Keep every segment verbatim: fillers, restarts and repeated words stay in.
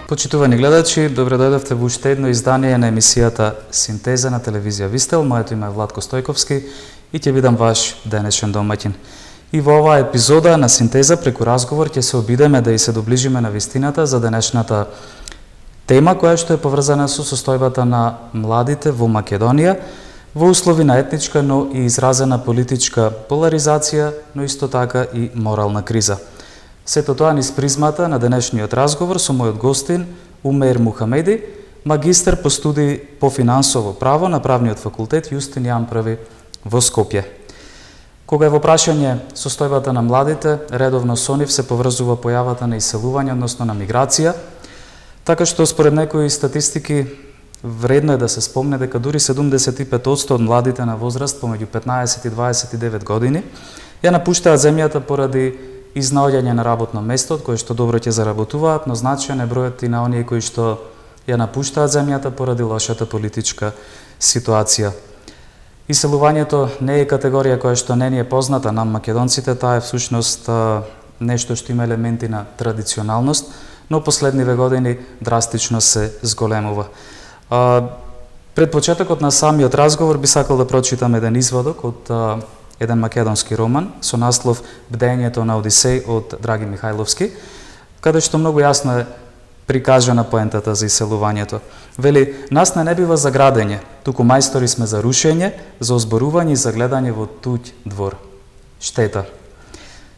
Почитувани гледачи, добре дојдовте во уште едно издание на емисијата Синтеза на телевизија Вистел. Моето име е Владко Стојковски и ќе бидам ваш денешен домаќин. И во оваа епизода на Синтеза преку разговор ќе се обидеме да и се доближиме на вистината за денешната тема која што е поврзана со состојбата на младите во Македонија во услови на етничка, но и изразена политичка поларизација, но исто така и морална криза. Сето тоа низ призмата на денешниот разговор со мојот гостин Умеир Мухамеди, магистар по студии по финансово право на правниот факултет Јустин Јан Први во Скопје. Кога е во прашање состојбата на младите, редовно со нив се поврзува појавата на иселување, односно на миграција, така што според некои статистики вредно е да се спомне дека дури седумдесет и пет одсто од младите на возраст помеѓу петнаесет и дваесет и девет години ја напуштаат земјата поради изнаоѓање на работно место од кое што добро ќе заработуваат, но значаен е бројот и на оние кои што ја напуштаат земјата поради лошата политичка ситуација. Иселувањето не е категорија која што не ни е позната нам македонците, таа е всушност нешто што има елементи на традиционалност, но последниве години драстично се зголемува. Пред почетокот на самиот разговор би сакал да прочитам еден изводок од еден македонски роман со наслов Бдењето на Одисеј од Драги Михајловски, каде што многу јасно е прикажана поентата за иселувањето. Вели, нас не бива за градење, туку мајстори сме за рушење, за озборување и за гледање во туѓ двор. Штета.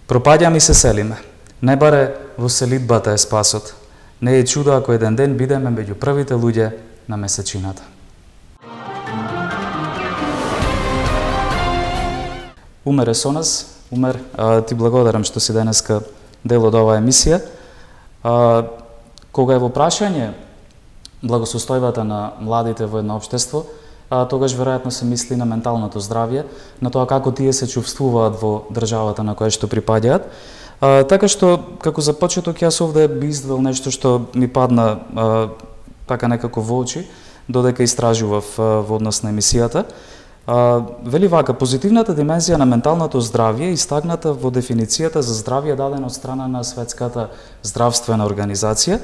Пропаѓаме и се селиме. Не баре во селидбата е спасот. Не е чудо ако еден ден бидеме меѓу првите луѓе на месечината. Умер е со нас. Умер, ти благодарам што си денеска дел од оваа емисија. Кога е во прашање благосостојбата на младите во едно општество, тогаш веројатно се мисли на менталното здравје, на тоа како тие се чувствуваат во државата на која што припаѓаат. Така што, како за почеток, јас овде би издвел нешто што ми падна така некако во очи, додека истражував во однос на емисијата. Вели вака, позитивната димензија на менталното здравје е истакната во дефиницијата за здравје дадена од страна на Светската здравствена организација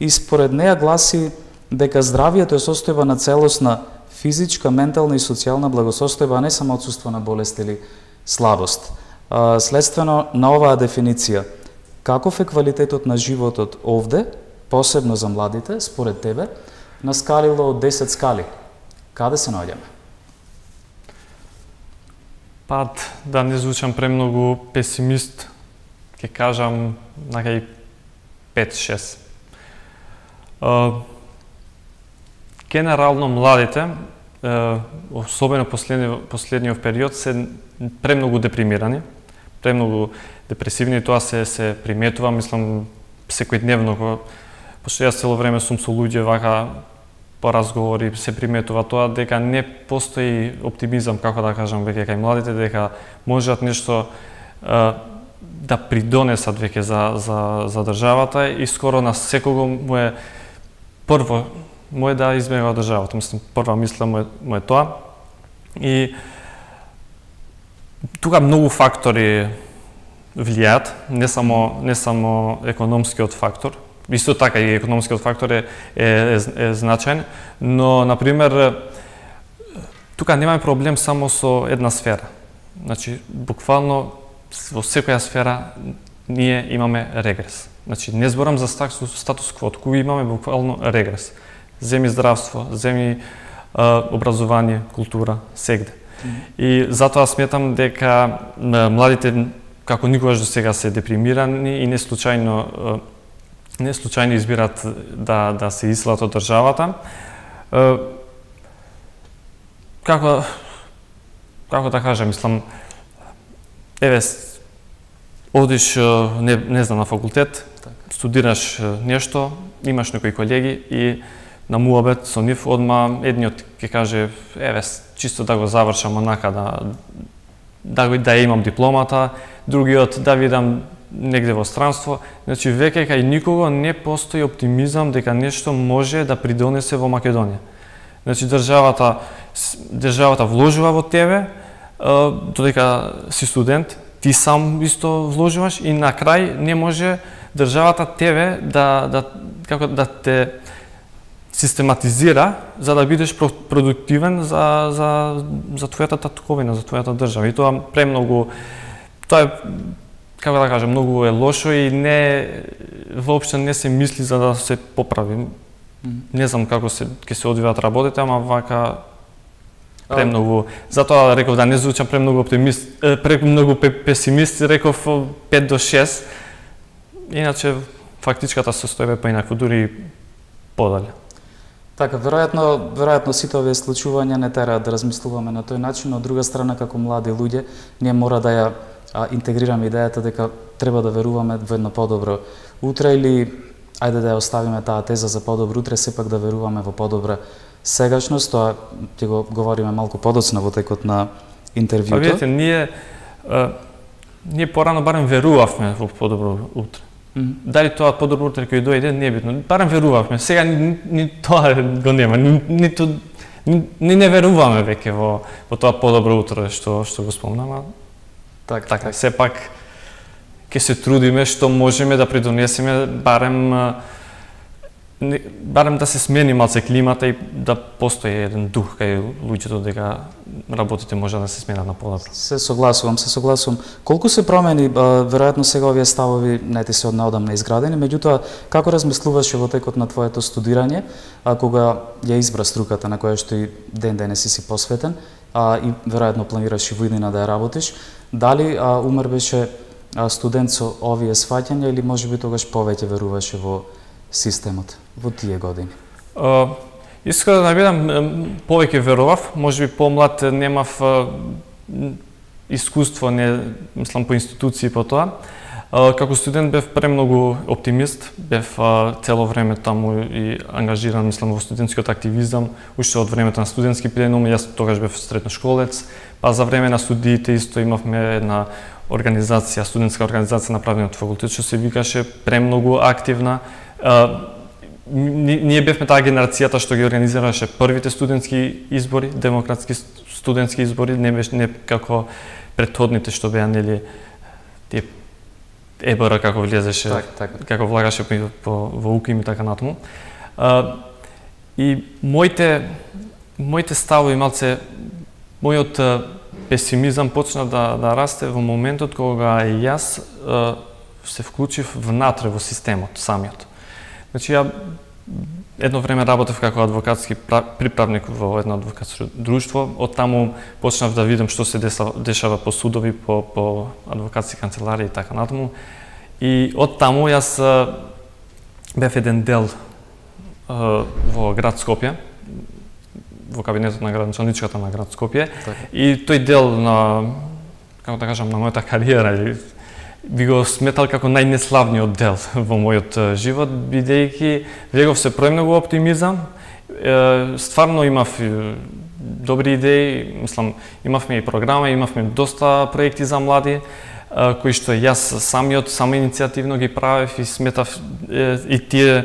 и според неја гласи дека здравјето е состојба на целосна физичка, ментална и социјална благосостојба, а не само отсуство на болест или слабост. Следствено на оваа дефиниција, каков е квалитетот на животот овде, посебно за младите, според тебе, на скалило од десет скали? Каде се наоѓаме? Пат, да не звучам премногу песимист, ќе кажам накај пет-шест. Генерално младите, особено последниот, последниот период, се премногу депримирани, премногу депресивни, тоа се се приметува, мислам секојдневно, пошто јас цело време сум со луѓе вака по разговори, се приметува тоа дека не постои оптимизам, како да кажам, веќе кај младите, дека можат нешто е, да придонесат веќе за, за, за државата и скоро на секого му е прво му е да избегува државата. Мислам, прва мисла му е, му е тоа. И тука многу фактори влијаат, не само, не само економскиот фактор. Исто така и економскиот фактор е, е, е, е значаен, но, например, тука немаме проблем само со една сфера. Значи, буквално во секоја сфера ние имаме регрес. Значи, не зборам за статус кво, туку имаме буквално регрес. Земи здравство, земи а, образование, култура, сегде. И затоа сметам дека младите како никогаш до сега се депримирани и не случајно не случајно избират да да се иселат од државата. Како како да кажам, мислам, еве одиш не не знам на факултет, студираш нешто, имаш некои колеги и на муабет со нив одма едниот ќе каже еве чисто да го завршам онака да да да имам дипломата, другиот да видам негде во странство. Значи веќе кај никого не постои оптимизам дека нешто може да придонесе во Македонија. Значи државата државата вложува во тебе, додека си студент, ти сам исто вложуваш и на крај не може државата тебе да да како да те систематизира за да бидеш продуктивен за за за твојата татковина, за твојата држава. И тоа премногу тоа е, како да кажам, многу е лошо и не воопшто не се мисли за да се поправи. Mm. Не знам како се ќе се одвиваат работите, ама вака премногу. Затоа реков да не звучам премногу оптимист, премногу песимист, реков пет до шест. Иначе фактичката состојба е поинакво, дури подале. Така, веројатно, веројатно сите овие случувања не тераат да размислуваме на тој начин, но од друга страна како млади луѓе ние мора да ја а, интегрираме идејата дека треба да веруваме во едно подобро утре или ајде да ја оставиме таа теза за подобро утре, сепак да веруваме во подобра сегашност. Тоа ќе го говориме малку подоцна во текот на интервјуто. Па видите, ние а, ние порано барем верувавме во подобро утре. Mm-hmm. Дали тоа подобро утре кој дојде, не е битно. Барем верувавме. Сега ни, ни тоа го нема. Ни, ниту ни, ни не веруваме веќе во во тоа подобро утре што што го спомнам. Так, така, так. сепак ќе се трудиме што можеме да придонесеме барем барем да се смени малце климата и да постои еден дух кај луѓето дека работите може да се сменат на подобро. Се согласувам, се согласувам. Колку се промени, веројатно сега овие ставови не ти се однеодамна изградени, меѓутоа како размислуваше во текот на твоето студирање, а кога ја избра струката на која што и ден денес си посветен, а и веројатно планираш и во иднина да ја работиш, дали а, Умер беше а, студент со овие сваќања или можеби тогаш повеќе веруваше во системот во тие години? Uh, искрено да бидам, повеќе верував, можеби помлад немав uh, искуство, не мислам по институции по тоа. Uh, како студент бев премногу оптимист, бев uh, цело време таму и ангажиран, мислам, во студентскиот активизам, уште од времето на студентски пленум, јас тогаш бев средношколец, па за време на студиите исто имавме една организација, студентска организација на правниот факултет, што се викаше премногу активна. Uh, ние бевме таа генерацијата што ги организираше првите студентски избори, демократски студентски избори, не беше не како претходните што беа нели тие ЕБР како влезеше, так, так. како влагаше по, по во УКИМ и така натаму. Uh, и моите моите ставови малце мојот uh, песимизам почна да да расте во моментот кога и јас uh, се вклучив внатре во системот самиот. Значи, ја едно време работев како адвокатски приправник во едно адвокатско друштво, од таму почнав да видам што се дешава по судови, по, по адвокатски канцеларии и така натаму. И од таму јас бев еден дел во град Скопје, во кабинетот на градоначалничката на град Скопје. Так. И тој дел на, како да кажам, на мојата кариера, би го сметал како најнеславниот дел во мојот живот, бидејќи влегов се премногу оптимизам, стварно имав добри идеи, мислам, имавме и програма, имавме доста проекти за млади, кои што јас самиот, самоиницијативно ги правев и сметав и тие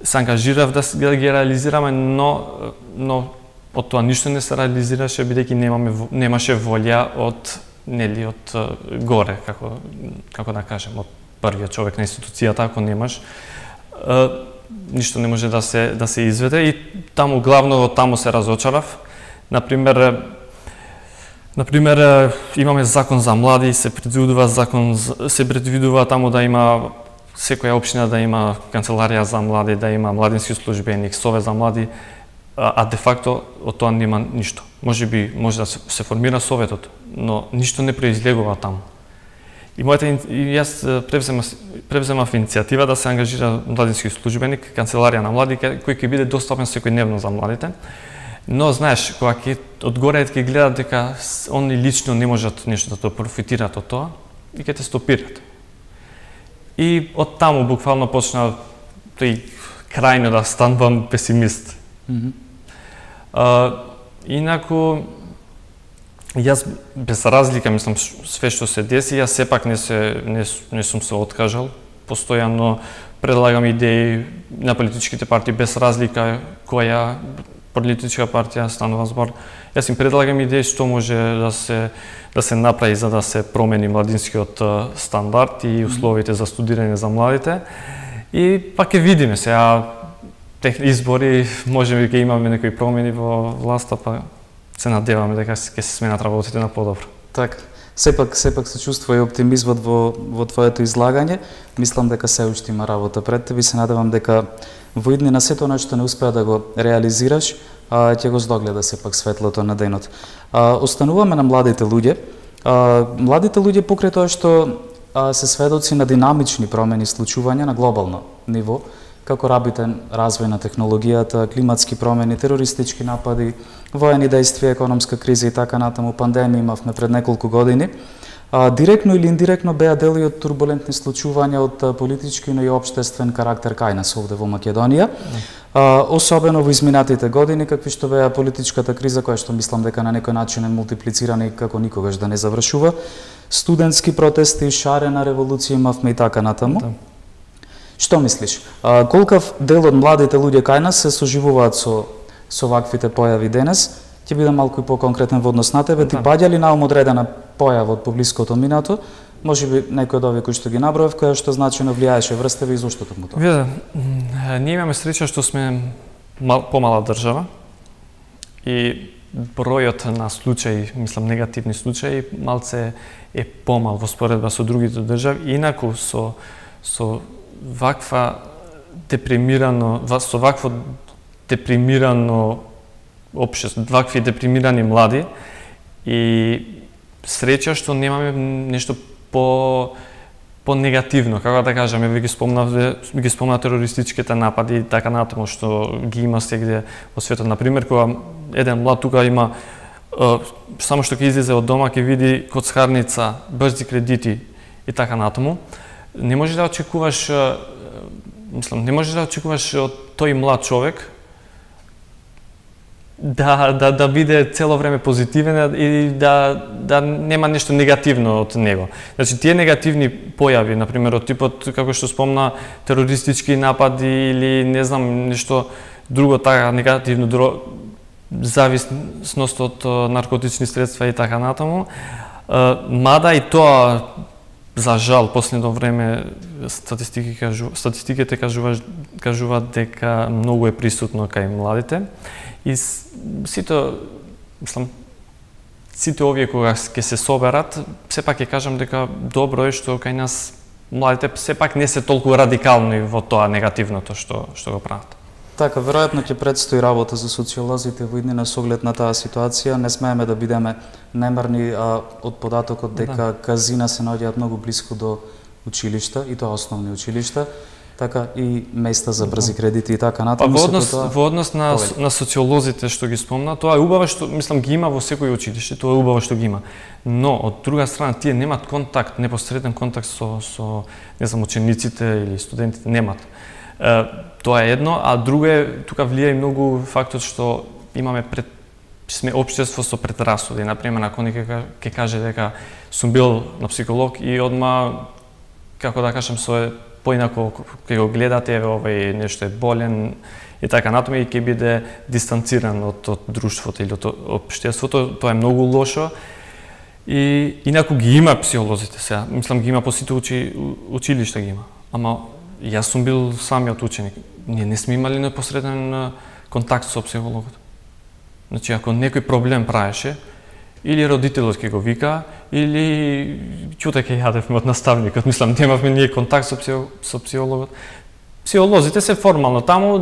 се ангажирав да ги реализираме, но но од тоа ништо не се реализираше бидејќи немаме немаше волја од нели од горе, како како да кажем, од првиот човек на институцијата, ако немаш е, ништо не може да се да се изведе и таму главно од таму се разочарав. Например, например имаме закон за млади, се предвидува закон се предвидува таму да има секоја општина да има канцеларија за млади, да има младински службеник, совет за млади, а де факто од тоа нема ништо. Може би може да се, се формира советот, но ништо не произлегува таму. И мојата и јас превзема превземав иницијатива да се ангажира младински службеник, канцеларија на млади кој ќе биде достапен секојдневно за младите. Но знаеш, кога ќе одгоре ќе гледат дека они лично не можат нешто да профитираат од тоа и ќе те стопираат. И од таму буквално почна тој крајно да станувам песимист. Mm-hmm. Uh, инаку, јас без разлика, мислам, све што се деси, јас сепак не, се, не, не сум се откажал. Постојано предлагам идеи на политичките партии без разлика која политичка партија станува збор. Јас им предлагам идеи што може да се да се направи за да се промени младинскиот стандард и условите за студирање за младите. И пак ќе видиме сега тех избори, можеби ќе имаме некои промени во власта, па се надеваме дека ќе се сменат работите на подобро. Така. Сепак, сепак се чувствува и оптимизмот во, во твоето излагање. Мислам дека се уште има работа пред тебе и се надевам дека во иднина сето она што не успеа да го реализираш, а, ќе го здогледа сепак светлото на денот. А, остануваме на младите луѓе. А, младите луѓе покрај тоа што а, се сведоци на динамични промени случувања на глобално ниво, како рапиден развој на технологијата, климатски промени, терористички напади, воени действија, економска криза и така натаму, пандемија имавме пред неколку години. А, директно или индиректно беа дели од турбулентни случувања од политички, но и општествен карактер кај нас овде во Македонија. А, особено во изминатите години, какви што беа политичката криза, која што мислам дека на некој начин е мултиплицирана и како никогаш да не завршува, студентски протести, шарена револуција имавме и така натаму. Да. Што мислиш? А, колкав дел од младите луѓе кај нас се соживуваат со со ваквите појави денес? Ќе бидам малку и по-конкретен во однос на тебе. Да. Ти паѓа ли на ум одредена појава од поблиското минато? Можеби некој од овие кои што ги наброев, која што значено влијаеше врз тебе и зошто токму тоа? Виде, ние имаме среќа што сме мал, помала држава и бројот на случаи, мислам негативни случаи, малце е помал во споредба со другите држави, инаку со со ваква депримирано, со вакво депримирано општество, вакви депримирани млади и среќа што немаме нешто по по негативно, како да кажеме, ви ги спомнав, ги спомна терористичките напади и така натаму што ги има сегде во светот. На пример, кога еден млад тука има само што ќе излезе од дома ќе види коцкарница, брзи кредити и така натаму, не можеш да очекуваш, мислам, не можеш да очекуваш од тој млад човек да да да биде цело време позитивен и да да нема нешто негативно од него. Значи тие негативни појави, на пример од типот како што спомна терористички напади или не знам нешто друго така негативно, друго, зависност од наркотични средства и така натаму, мада и тоа за жал последно време статистики кажу, статистиките кажуваат кажуваат дека многу е присутно кај младите. И сите, мислам, сите овие кога ќе се соберат, сепак ќе кажам дека добро е што кај нас младите сепак не се толку радикални во тоа негативното што што го прават. Така, веројатно ќе предстои работа за социолозите во иднина со оглед на таа ситуација. Не смееме да бидеме немарни а, од податокот дека да. казина се наоѓаат многу блиску до училишта, и тоа основни училишта, така и места за брзи кредити и така натаму. Па во однос, тоа... во однос на, на социолозите што ги спомна, тоа е убаво што, мислам, ги има во секој училиште, тоа е убаво што ги има. Но, од друга страна, тие немат контакт, непосреден контакт со, со не знам, учениците или студентите, немат. Е, тоа е едно, а друго е, тука влија и многу фактот што имаме пред, сме општество со предрасуди. Например, ако некој ќе каже дека сум бил на психолог и одма, како да кажам, со поинако ќе го гледате, овој нешто е болен и така натаму, и ќе биде дистанциран од, од друштвото или од општеството, тоа е многу лошо. И инаку ги има психолозите сега, мислам ги има по сите учи, училишта ги има. Ама јас сум бил самиот ученик. Ние не сме имали непосреден контакт со психологот. Значи, ако некој проблем правеше, или родителот ќе го вика, или ќуте ќе јадевме од наставникот. Мислам, немавме ние контакт со, психо, со психологот. Психолозите се формално таму,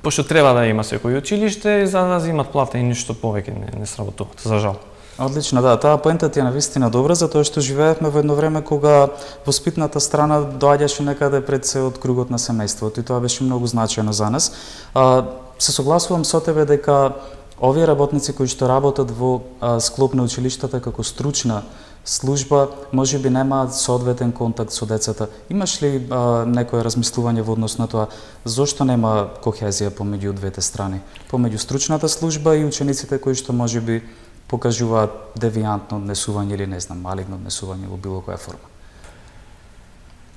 пошто треба да има секој училиште, за да земат плата и ништо повеќе не, не сработуваат, за жал. Одлично, да, таа поента ти е навистина добра, затоа што живеевме во едно време кога воспитната страна доаѓаше некаде пред се од кругот на семејството и тоа беше многу значајно за нас. А, се согласувам со тебе дека овие работници кои што работат во а, склоп на училиштата како стручна служба, можеби немаат соодветен контакт со децата. Имаш ли а, некое размислување во однос на тоа зошто нема кохезија помеѓу двете страни, помеѓу стручната служба и учениците кои што можеби покажуваат девијантно однесување или не знам, малигно однесување во било која форма?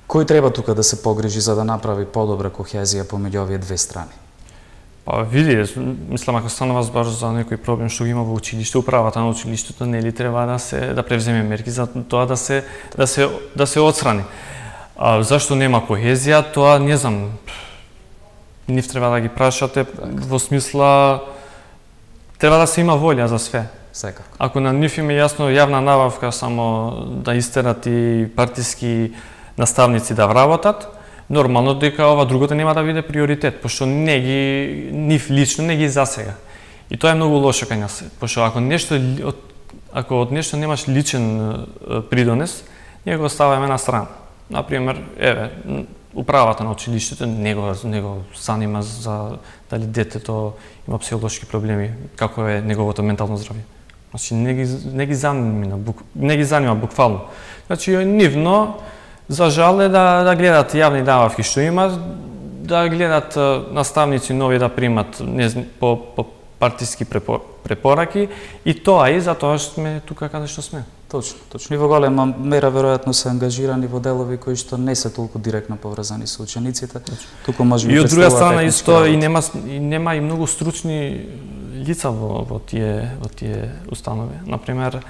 Кој треба тука да се погрижи за да направи подобра кохезија помеѓу овие две страни? Па види, мислам, ако станува збор за некој проблем што го има во училиште, управата на училиштето нели треба да се да превземе мерки за тоа да се да се да се отстрани. А зашто нема кохезија, тоа не знам. Нив треба да ги прашате во смисла треба да се има волја за све. Секако. Ако на нив им е јасно јавна набавка само да истерат и партиски наставници да вработат, нормално дека ова другото нема да биде приоритет, пошто не ги нив лично не ги засега. И тоа е многу лошо кај нас, пошто ако нешто ако од нешто немаш личен придонес, ние го оставаме на страна. Например, еве, управата на училиштето не го не го занима за дали детето има психолошки проблеми, како е неговото ментално здравје. Значи не ги не ги занима, не ги занима буквално. Значи нивно за жал е да да гледат јавни набавки што има, да гледат наставници нови да примат не знам, по по партиски препораки и тоа и затоа што сме тука каде што сме. Точно, точно. И во голема мера веројатно се ангажирани во делови кои што не се толку директно поврзани со учениците. Туку може би и од друга страна исто и нема и нема и многу стручни лица во во тие во тие установи. Например,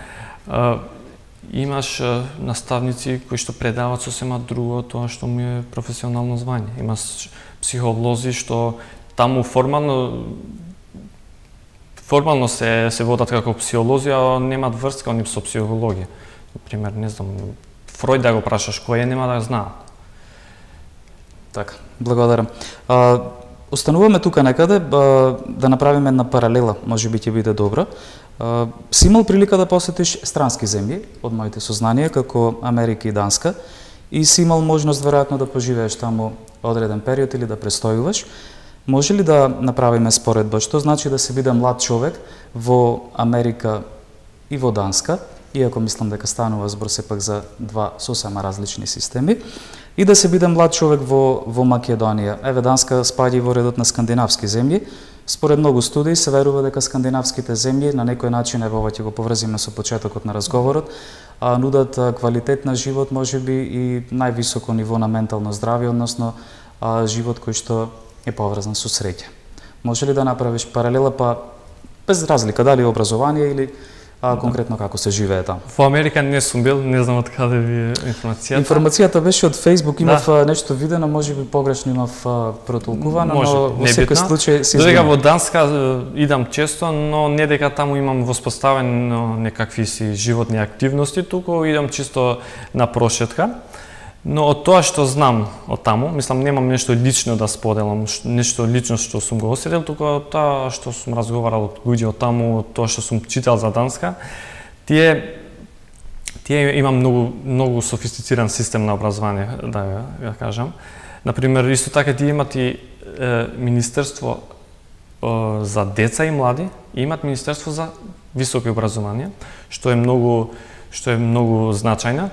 имаш наставници кои што предаваат сосема друго тоа што му е професионално звање. Имаш психолози што таму формално формално се се водат како психолози, а немаат врска они со психологија. Например, не знам, Фројд да го прашаш кој е, нема да знаат. Така, благодарам. А, остануваме тука некаде а, да направиме една паралела, може би ќе биде добра. А, си имал прилика да посетиш странски земји, од моите сознанија, како Америка и Данска, и си имал можност веројатно да поживееш таму одреден период или да престојуваш. Може ли да направиме споредба, што значи да се биде млад човек во Америка и во Данска, иако мислам дека станува збор сепак за два сосема различни системи, и да се биде млад човек во во Македонија. Еве, Данска спаѓа во редот на скандинавски земји. Според многу студии се верува дека скандинавските земји на некој начин, ево ова ќе го поврзиме со почетокот на разговорот, а, нудат квалитет на живот, можеби и највисоко ниво на ментално здравје, односно а, живот кој што е поврзан со среќа. Може ли да направиш паралела, па без разлика дали образование или а, конкретно како се живее таму? Во Америка не сум бил, не знам од каде ви е информацијата. Информацијата беше од Facebook, имав да. нешто видено, можеби погрешно имав протолкувано, може, но во секој случај се додека во Данска идам често, но не дека таму имам воспоставено некакви си животни активности, туку идам чисто на прошетка. Но од тоа што знам од таму, мислам немам нешто лично да споделам, нешто лично што сум го осетил, туку тоа што сум разговарал од луѓе од таму, тоа што сум читал за Данска, тие тие има многу многу софистициран систем на образование, да ја кажам. Например, исто така тие имат и е, министерство е, за деца и млади, и имат министерство за високо образование, што е многу што е многу значајно.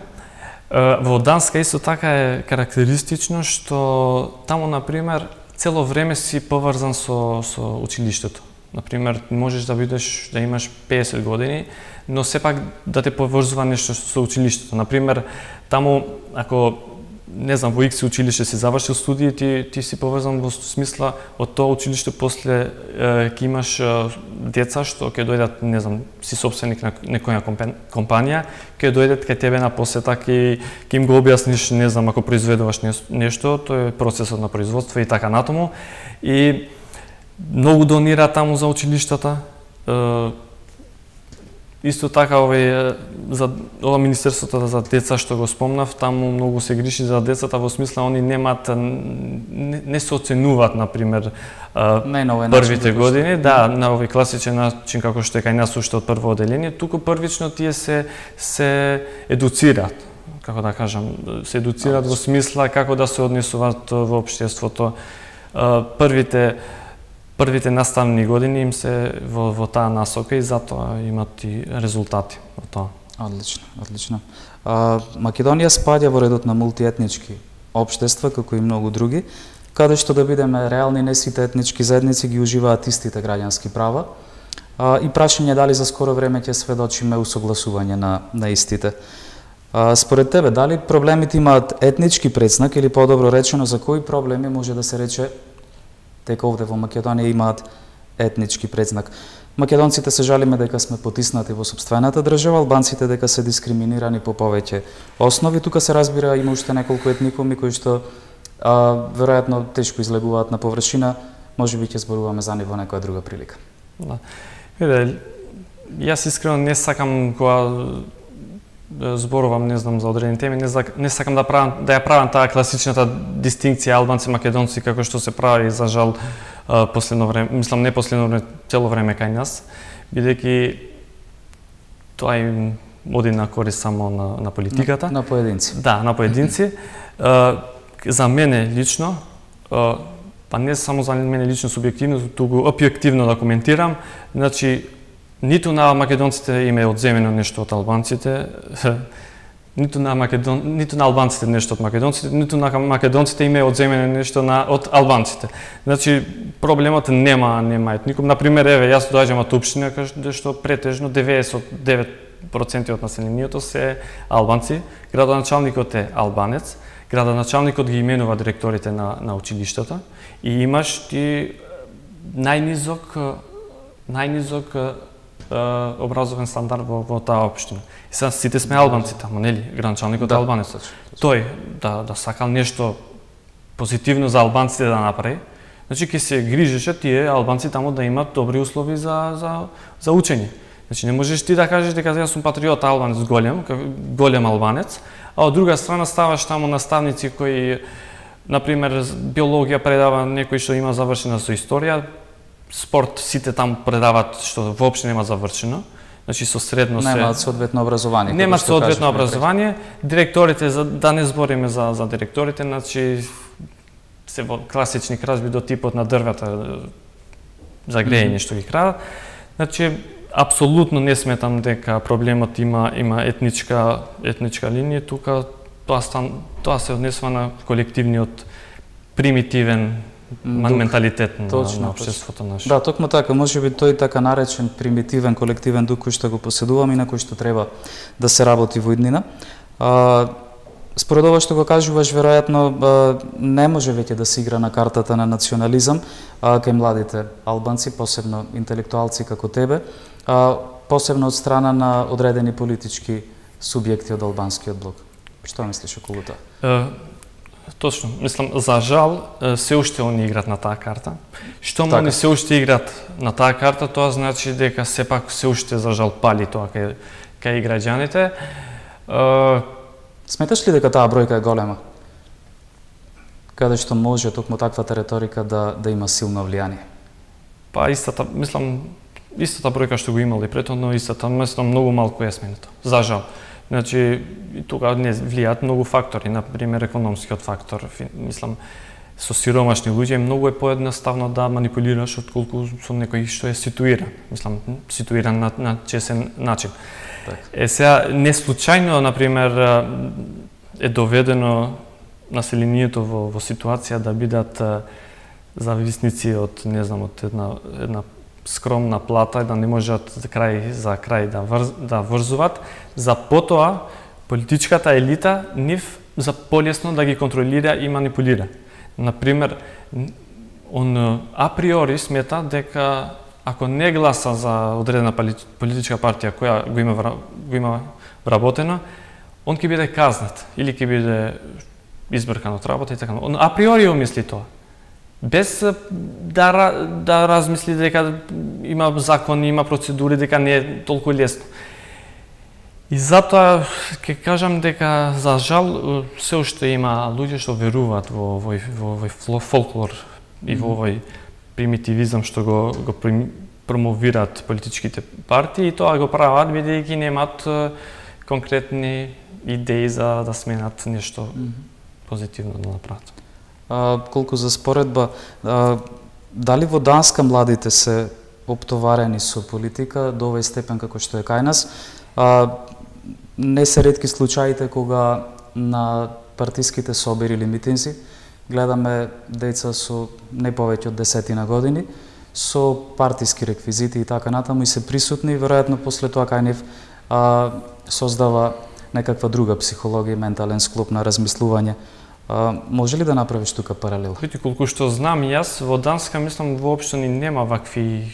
Во Данска исто така е карактеристично што таму, например, цело време си поврзан со, со училиштето. Например, можеш да бидеш, да имаш песет години, но сепак да те поврзува нешто со училиштето. Например, таму, ако не знам, во Икс училиште си завршил студии, ти, ти си поврзан во смисла од тоа училиште, после е, ќе имаш е, деца што ќе дојдат, не знам, си собственик на некоја компанија, ќе дојдат кај тебе на посета, ќе ќе им го објасниш, не знам, ако произведуваш нешто, тоа е процесот на производство и така натаму. И многу донира таму за училиштата. Е, Исто така овој за ова министерството за деца што го спомнав, таму многу се грижи за децата во смисла они немаат не, не се оценуваат, на пример, првите години, да, на овој класичен начин како што е кај нас уште од прво оделение, туку првично тие се се едуцираат, како да кажам, се едуцираат во смисла како да се однесуваат во општеството. Првите Првите наставни години им се во, во таа насока и затоа имат и резултати во тоа. Одлично, одлично. А, Македонија спаѓа во редот на мултиетнички општества, како и многу други, каде што да бидеме реални, не сите етнички заедници ги уживаат истите граѓански права. А, и прашање дали за скоро време ќе сведочиме усогласување на, на истите. А, според тебе, дали проблемите имаат етнички предзнак или подобро речено, за кои проблеми може да се рече дека овде во Македонија имаат етнички предзнак? Македонците се жалиме дека сме потиснати во сопствената држава, албанците дека се дискриминирани по повеќе основи. Тука се разбира има уште неколку етникуми кои што а, веројатно тешко излегуваат на површина. Можеби ќе зборуваме за нив во некоја друга прилика. Да. Виде, јас искрено не сакам кога зборувам, не знам, за одредени теми, не, не сакам да правам да ја правам таа класичната дистинкција албанци македонци како што се прави за жал последно време, мислам не последно време, цело време кај нас, бидејќи тоа им оди на корист само на, на политиката. На, на поединци. Да, на поединци. За мене лично, па не само за мене лично субјективно, туку објективно да коментирам, значи ниту на македонците им е одземено нешто од албанците, ниту на македон ниту на албанците нешто од македонците, ниту на македонците им е одземено нешто на од албанците. Значи проблемот нема нема етникум. На пример, еве јас доаѓам од општина каде што претежно деветдесет и девет проценти од населението се албанци, градоначалникот е албанец, градоначалникот ги именува директорите на на училиштата и имаш ти најнизок најнизок образовен стандард во, во таа општина. И сега сите сме албанци таму, нели? Градоначалникот е албанец. Тој да да сакал нешто позитивно за албанците да направи, значи ќе се грижеше тие албанци таму да имат добри услови за за за учење. Значи не можеш ти да кажеш дека јас сум патриот албанец голем, голем албанец, а од друга страна ставаш таму наставници кои, на пример, биологија предава некој што има завршена со историја, спорт сите таму предаваат што воопшто нема завршено, значи со средно се немаат соодветно образование. Немаат соодветно образование, директорите, за да не збориме за за директорите, значи се во класични кражби до типот на дрвета за грејење што ги крадат. Значи апсолутно не сметам дека проблемот има има етничка етничка линија тука, тоа стан тоа се однесува на колективниот примитивен Дух, менталитет на, точно, на општеството наше. Да, токму така, можеби тој така наречен примитивен колективен дух кој што го поседуваме и на кој што треба да се работи во иднина. А, според ова што го кажуваш, веројатно не може веќе да се игра на картата на национализам а, кај младите албанци, посебно интелектуалци како тебе, а, посебно од страна на одредени политички субјекти од албанскиот блок. Што мислиш околу тоа? Точно, мислам, за жал, се уште они играат на таа карта. Штом они се уште играат на таа карта, тоа значи дека сепак се уште за жал пали тоа кај, кај граѓаните. Сметаш ли дека таа бројка е голема? Каде што може токму таквата реторика да, да има силно влијание? Па истата, мислам, истата бројка што го имали претhodно, истата, мислам, многу малку е сменето. За жал. Значи, тука не влијаат многу фактори, например економскиот фактор. Мислам, со сиромашни луѓе многу е поедноставно да манипулираш отколку со некој што е ситуиран. Мислам, ситуиран на, на чесен начин. Так. Е сега не случајно, например, е доведено населението во, во ситуација да бидат зависници од, не знам, од една една скромна плата, да не можат за крај за крај да врз, да врзуваат, за потоа политичката елита нив за полесно да ги контролира и манипулира. Например, он априори смета дека ако не гласа за одредена политичка партија која го има го има вработено, он ќе биде казнат или ќе биде избркан од работа и така. Он априори мисли тоа. Без да, да размисли дека има закони, има процедури, дека не е толку лесно. И затоа ќе кажам дека за жал се уште има луѓе што веруваат во овој во овој фолклор и во овој примитивизам што го го промовираат политичките партии и тоа го прават бидејќи немаат конкретни идеи за да сменат нешто позитивно да направат. А, колку за споредба, а, дали во Данска младите се оптоварени со политика до овој степен како што е кај нас? А, не се ретки случаите кога на партиските собери или митинзи гледаме деца со не повеќе од десетина години со партиски реквизити и така натаму и се присутни и веројатно после тоа кај нив а, создава некаква друга психологија, ментален склоп на размислување. А, може ли да направиш тука паралел? Види, колку што знам јас, во Данска, мислам, воопшто ни нема вакви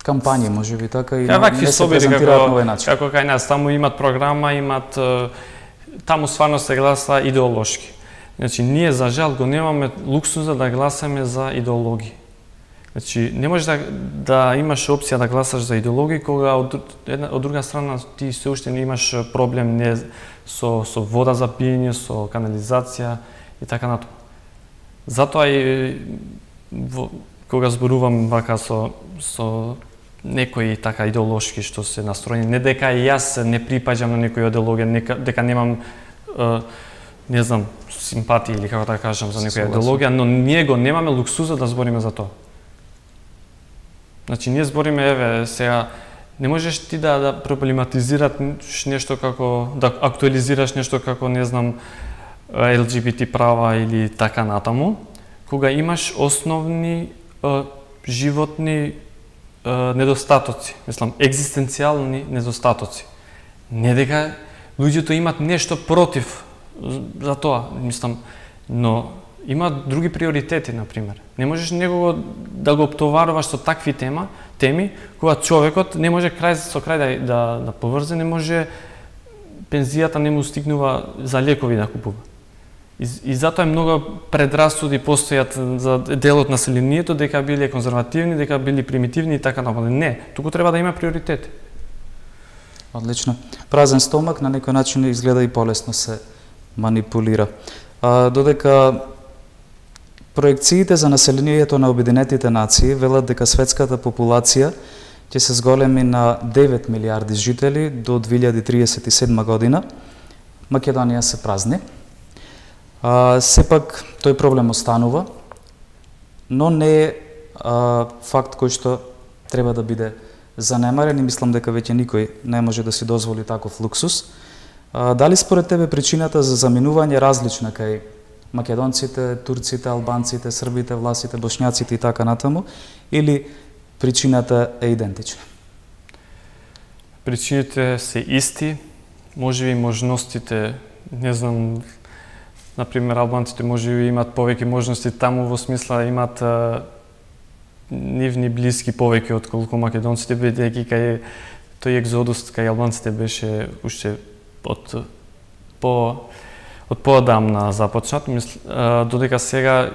кампањи, можеби така и не се презентираат на овој начин. Како кај нас, таму имат програма, имат таму стварно се гласа идеолошки. Значи, ние за жал го немаме луксуза да гласаме за идеологии. Значи, не можеш да, да имаш опција да гласаш за идеологии, кога од, една, од друга страна ти се уште не имаш проблем не со, со вода за пиење, со канализација и така натаму. Затоа и во, кога зборувам вака со, со некои така идеолошки што се настроени, не дека и јас не припаѓам на некоја идеологија, нека, дека немам е, не знам, симпатии или како да кажам за некоја идеологија, но ние го немаме луксуза да збориме за тоа. Значи, ние збориме, еве, сега, не можеш ти да, да проблематизираш нешто како, да актуализираш нешто како, не знам, Ел Џи Би Ти права или така натаму, кога имаш основни е, животни е, недостатоци, мислам, екзистенцијални недостатоци. Не дека луѓето имат нешто против за тоа, мислам, но има други приоритети, например. Не можеш некого да го оптоваруваш со такви тема, теми, кога човекот не може крај со крај да, да, да поврзе, не може пензијата не му стигнува за лекови да купува. И, и затоа многу предрасуди постојат за делот на населението дека биле конзервативни, дека били примитивни и така например. Не, туку треба да има приоритети. Одлично. Празен стомак на некој начин изгледа и полесно се манипулира. А, додека проекциите за населението на Обединетите нации велат дека светската популација ќе се зголеми на девет милиарди жители до две илјади триесет и седма година, Македонија се празни. А, сепак тој проблем останува, но не е а, факт кој што треба да биде занемарен и мислам дека веќе никој не може да си дозволи таков луксус. А, дали според тебе причината за заминување различна кај македонците, турците, албанците, србите, власите, бошњаците и така натаму, или причината е идентична? Причините се исти, можеби можностите, не знам, например, албанците можеби имат повеќе можности таму во смисла имат а, нивни блиски повеќе отколку македонците, бидејќи кај тој екзодус кај албанците беше уште од по од поодамна започнат, мисл, а, додека сега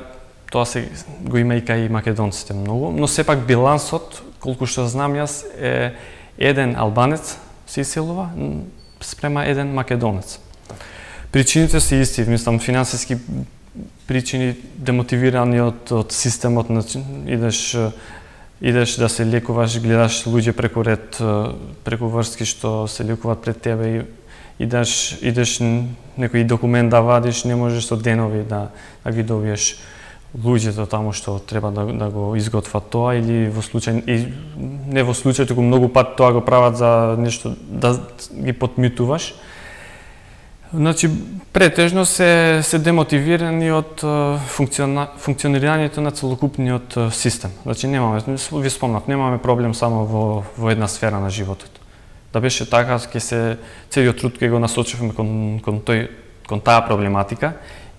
тоа се го има и кај македонците многу, но сепак билансот, колку што знам јас, е еден албанец се иселува спрема еден македонец. Причините се исти, мислам, финансиски причини, демотивирани од, од системот, идеш, идеш да се лекуваш, гледаш луѓе преку ред, преку врски што се лекуваат пред тебе и идеш, идеш некој документ да вадиш, не можеш со денови да, да ги добиеш луѓето таму што треба да, да го изготват тоа, или во случај, и не во случај, туку многу пат тоа го прават за нешто, да ги подмитуваш. Значи, претежно се, се демотивирани од функциона, функционирањето на целокупниот систем. Значи, немаме, ви спомнав, немаме проблем само во, во една сфера на животот. Да беше така, ќе се целиот труд ќе го насочуваме кон, кон, тој, кон таа проблематика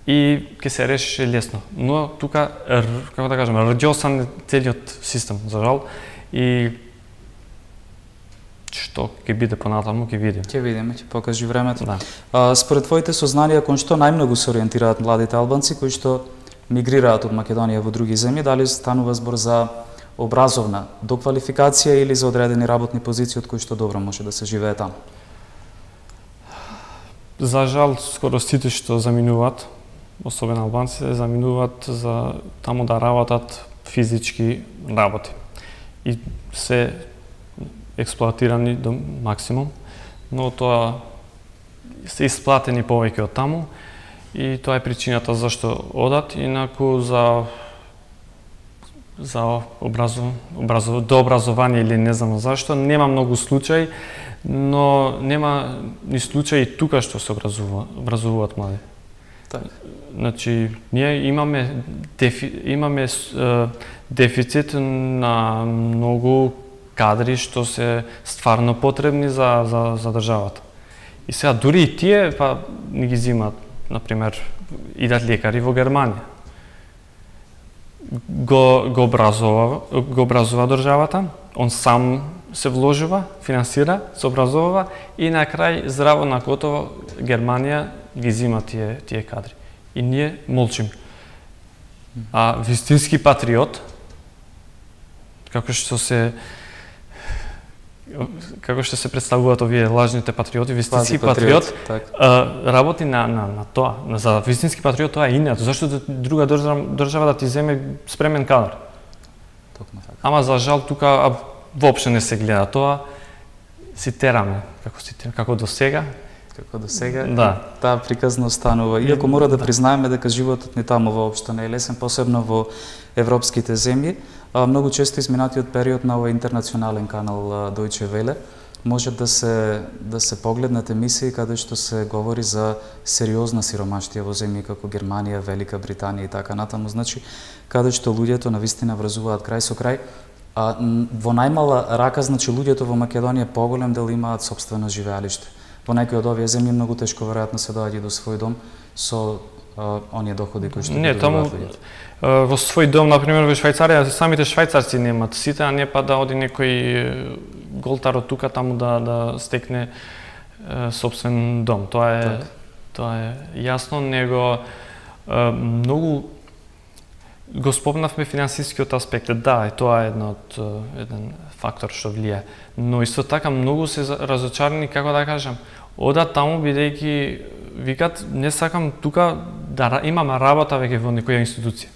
и ќе се решише лесно. Но тука, како да кажем, радиосан целиот систем, за жал, и што ќе биде понатаму, ќе видиме. Ќе видиме, ќе покажи времето. Да. А, според твоите сознанија, кон што најмногу се ориентираат младите албанци кои што мигрираат од Македонија во други земји, дали станува збор за образовна доквалификација или за одредени работни позиции од кои што добро може да се живее таму? За жал, скоро сите што заминуваат, особено албанците, заминуваат за таму да работат физички работи. И се експлоатирани до максимум, но тоа се исплатени повеќе од таму и тоа е причината зашто одат, инаку за за образов, образов, до образование или не знам зашто, нема многу случаи, но нема ни случаи тука што се образува, образуваат млади. Так. Значи, ние имаме, дефи, имаме е, дефицит на многу кадри што се стварно потребни за, за, за државата. И сега, дури и тие, па, не ги зимат, например, идат лекари во Германија. Го, го, образува, го образува државата, он сам се вложува, финансира, се образовува и на крај здраво на готово Германија ги зима тие тие кадри. И ние молчим. А вистински патриот, како што се како што се представуваат овие лажните патриоти, вистински патриот, патриот а, работи на на на тоа. За вистински патриот тоа е инат. Зашто да друга држава, држава да ти земе спремен кадар? Токму така. Ама за жал тука а, воопшто не се гледа тоа. Си тераме, како си тераме, како до сега. Како до сега, да. Таа приказна останува. Иако мора да признаеме дека животот ни таму воопшто не е лесен, посебно во европските земји. А, многу често изминатиот период на овој интернационален канал Deutsche Welle може да се да се погледнат емисии каде што се говори за сериозна сиромаштија во земји како Германија, Велика Британија и така натаму, значи каде што луѓето навистина врзуваат крај со крај. А во најмала рака, значи луѓето во Македонија поголем дел имаат сопствено живеалиште. Во некои од овие земји многу тешко веројатно се доаѓа до свој дом со а, оние доходи кои што не таму во свој дом, например во Швајцарија, самите швајцарци немаат сите, а не па да оди некој голтар од тука таму да да стекне е, собствен дом. Тоа е так. Тоа е јасно, него е, многу го спомнавме финансискиот аспект. Да, и тоа е едно од еден фактор што влијае. Но исто така многу се разочарани, како да кажам, одат таму бидејќи викат не сакам тука да имам работа веќе во некоја институција.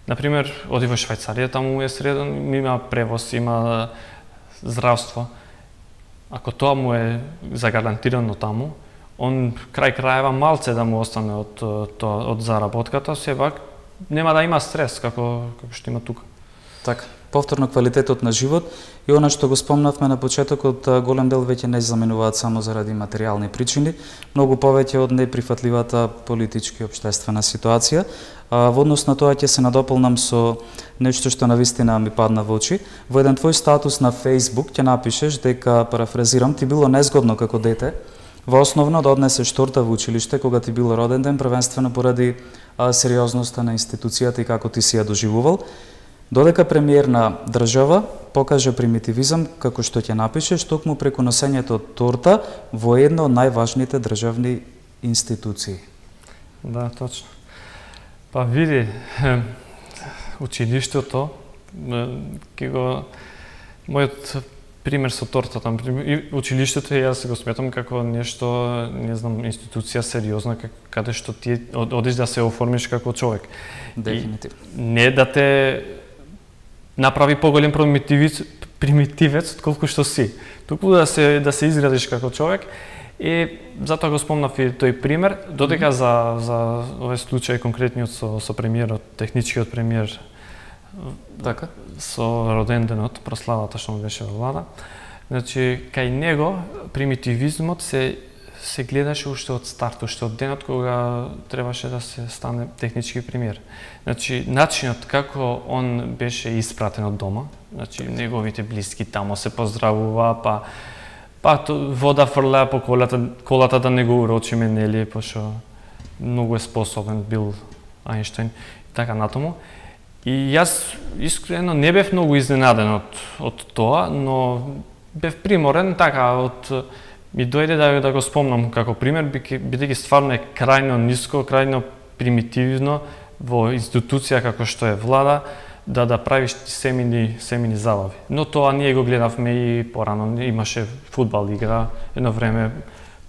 Например, оди во Швајцарија, таму е среден, има превоз, има здравство. Ако тоа му е загарантирано таму, он крај крајева малце да му остане од тоа од заработката, сепак нема да има стрес како како што има тука. Така, повторно квалитетот на живот и она што го спомнавме на почетокот, голем дел веќе не заменуваат само заради материјални причини, многу повеќе од неприфатливата политички и општествена ситуација. А, во однос на тоа ќе се надополнам со нешто што навистина ми падна во очи. Во еден твој статус на Facebook ќе напишеш дека, парафразирам, ти било незгодно како дете во основно да однесеш торта во училиште кога ти било роден ден, првенствено поради а, сериозноста на институцијата и како ти си ја доживувал. Додека премиер на држава покажа примитивизам, како што ќе напишеш, токму преку носењето од торта во една од најважните државни институции. Да, точно. Па види, училиштето, ке го мојот пример со тортата, и училиштето јас го сметам како нешто, не знам, институција сериозна каде што ти одиш да се оформиш како човек. Дефинитивно. Не да те направи поголем примитивец, примитивец отколку што си. Туку да се да се изградиш како човек. И затоа го спомнав и тој пример, додека за за овој случај конкретниот со со премиерот, техничкиот премиер, така, со роденденот, прославата што му беше во влада. Значи, кај него примитивизмот се се гледаше уште од старт, уште од денот кога требаше да се стане технички премиер. Значи, начинот како он беше испратен од дома, значи неговите блиски тамо се поздравува, па па вода фрлаа по колата, колата да не го урочиме, нели, пошто многу е способен бил Ајнштајн и така натаму. И јас искрено не бев многу изненаден од од тоа, но бев приморен така од ми дојде да да го спомнам како пример, бидејќи стварно е крајно ниско, крајно примитивно во институција како што е влада да да правиш семини семини забави. Но тоа ние го гледавме и порано, имаше фудбал игра, едно време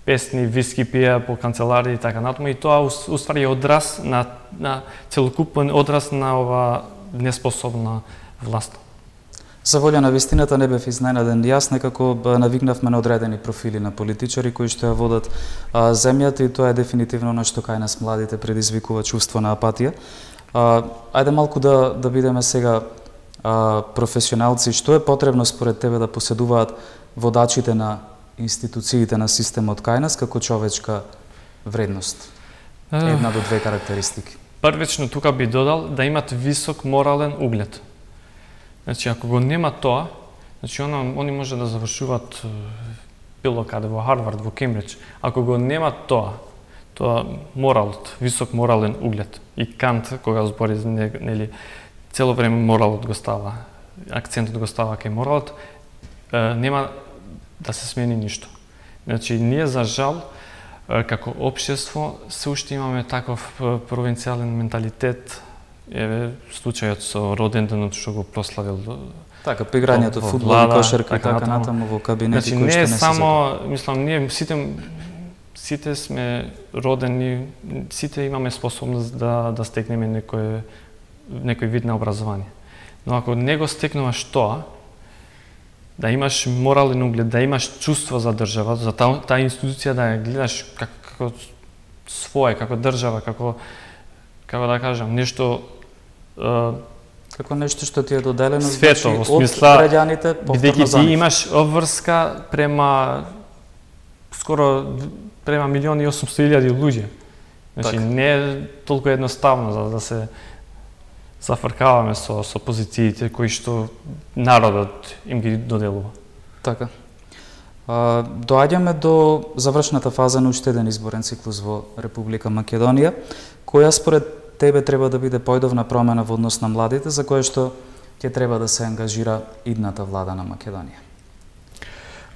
песни, виски пија по канцеларии и така натаму, и тоа уствари е одраз на на целокупен одраз на ова неспособна власт. За волја на вистината не бев изненаден. Јас некако навигнавме на одредени профили на политичари кои што ја водат а, земјата, и тоа е дефинитивно нешто кај нас младите предизвикува чувство на апатија. А, ајде малку да да бидеме сега а, професионалци. Што е потребно според тебе да поседуваат водачите на институциите на системот кај нас како човечка вредност? Една до две карактеристики. Првично тука би додал да имат висок морален углед. Значи, ако го нема тоа, значи она, они може да завршуваат било каде во Харвард, во Кембридж. Ако го нема тоа, тоа моралот, висок морален углед. И Кант, кога збори, нели, цело време моралот го става, акцентот го става кај моралот, нема да се смени ништо. Значи, ние за жал, како општество, се уште имаме таков провинцијален менталитет. Еве, случајот со роден денот што го прославил така, по играњето фудбал и кошарка и така натаму во кабинети, значи, кои што не се само, мислам, ние сите сите сме родени, сите имаме способност да да стекнеме некој некој вид на образование. Но ако не го стекнуваш тоа, да имаш морален углед, да имаш чувство за држава, за таа та институција да ја гледаш како, како своја, како држава, како како да кажам, нешто како нешто што ти е доделено, свето, значи, во смисла, од граѓаните повторно за ти нив. имаш обврска према скоро према милион и осумсто илјади луѓе. Значи, так. Не е толку едноставно за да се зафркаваме со, со позициите кои што народот им ги доделува. Така. А, доаѓаме до завршната фаза на уште еден изборен циклус во Република Македонија, која според тебе треба да биде појдовна промена во однос на младите, за која што ќе треба да се ангажира идната влада на Македонија?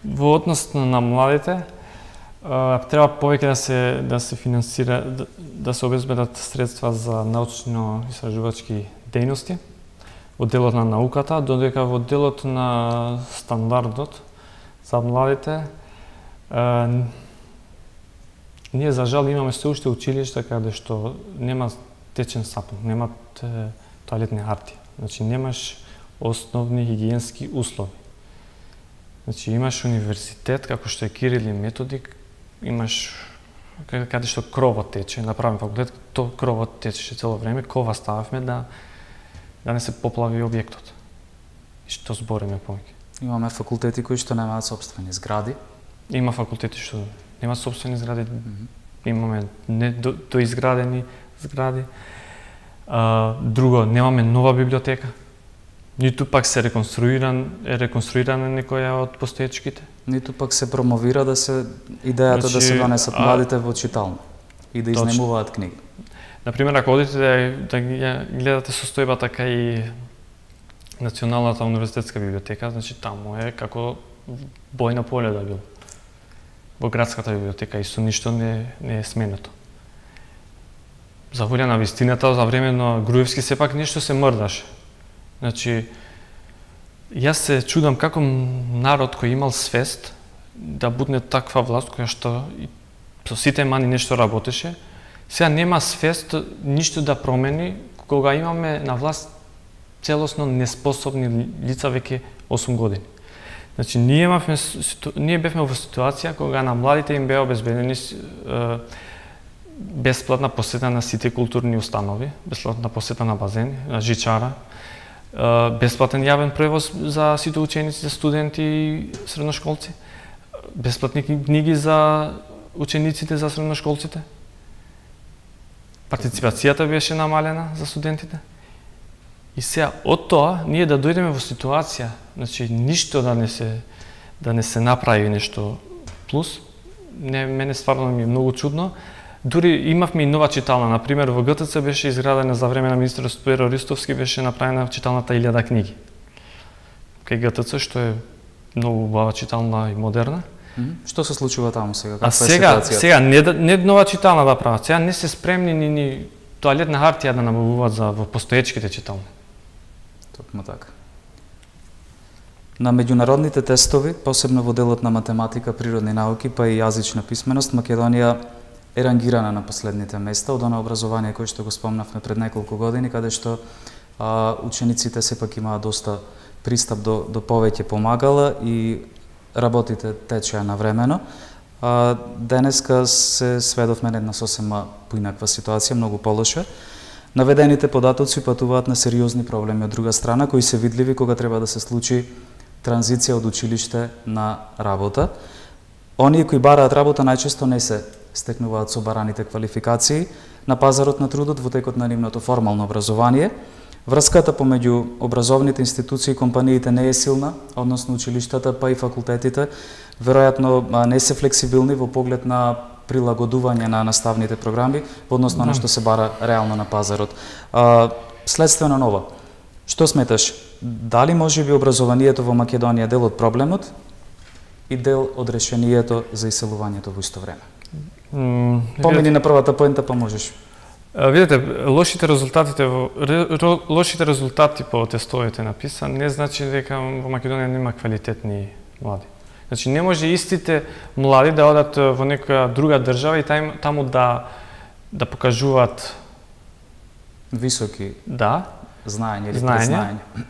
Во однос на младите, треба повеќе да се да се финансира, да, да се обезбедат средства за научно-истражувачки дејности во делот на науката, додека во делот на стандардот за младите е, ние за жал имаме се уште училишта каде што нема течен сапун, немат е, тоалетни харти. Значи немаш основни хигиенски услови. Значи имаш универзитет како што е Кирил и Методик, имаш каде што кровот тече, на правен факултет, то кровот течеше цело време, кова стававме да да не се поплави објектот. И што збориме повеќе. Имаме факултети кои што немаат сопствени згради. Има факултети што немаат сопствени згради, mm -hmm. имаме не до, доизградени згради. А, друго, немаме нова библиотека. Ниту пак се реконструиран, е реконструирана некоја од постоечките. Ниту пак се промовира да се идејата значи, да се донесат младите во читална и да изнемуваат книги. Например, ако одите да, да гледате состојбата кај Националната универзитетска библиотека, значи таму е како бојна поле да бил. Во градската библиотека и со ништо не, не е сменето. За волја на вистината, за време на Груевски сепак нешто се мрдаше. Значи, јас се чудам како народ кој имал свест да будне таква власт која што со сите мани нешто работеше, сега нема свест ништо да промени кога имаме на власт целосно неспособни лица веќе осум години. Значи, ние, имавме, ние бевме во ситуација кога на младите им беа обезбедени е, бесплатна посета на сите културни установи, бесплатна посета на базени, на жичара, е, бесплатен јавен превоз за сите ученици, за студенти и средношколци, бесплатни книги за учениците, за средношколците. Партиципацијата беше намалена за студентите. И сега од тоа ние да дојдеме во ситуација, значи ништо да не се да не се направи нешто плюс, не мене стварно ми е многу чудно. Дури имавме и нова читална, на пример во ГТЦ беше изградена за време на министерот Стојко Ристовски, беше направена читалната илјада книги. Кај ГТЦ што е многу убава читална и модерна. Mm-hmm. Што се случува таму сега? Каква а сега, е сега не, не нова читална да прават, сега не се спремни ни, ни тоалетна хартија да набавуваат за во постоечките читални. Токму така. На меѓународните тестови, посебно во делот на математика, природни науки, па и јазична писменост, Македонија е рангирана на последните места од она образование кој што го спомнавме пред неколку години, каде што а, учениците сепак имаат доста пристап до, до повеќе помагала и работите течеа навремено. А, денеска се сведовме на една сосема поинаква ситуација, многу полоша. Наведените податоци патуваат на сериозни проблеми од друга страна, кои се видливи кога треба да се случи транзиција од училиште на работа. Оние кои бараат работа најчесто не се стекнуваат со бараните квалификации на пазарот на трудот во текот на нивното формално образование. Врската помеѓу образовните институции и компаниите не е силна, односно училиштата па и факултетите веројатно не се флексибилни во поглед на прилагодување на наставните програми во однос на што се бара реално на пазарот. Следствено нова, Што сметаш, дали може би образованието во Македонија е дел од проблемот и дел од решението за иселувањето во исто време? Mm, Помини на првата поента, па можеш. Видете, лошите резултатите во лошите резултати по тестовите написан не значи дека во Македонија нема квалитетни млади. Значи не може истите млади да одат во некоја друга држава и там, таму да да покажуваат високи да знаење или знаење, признаење.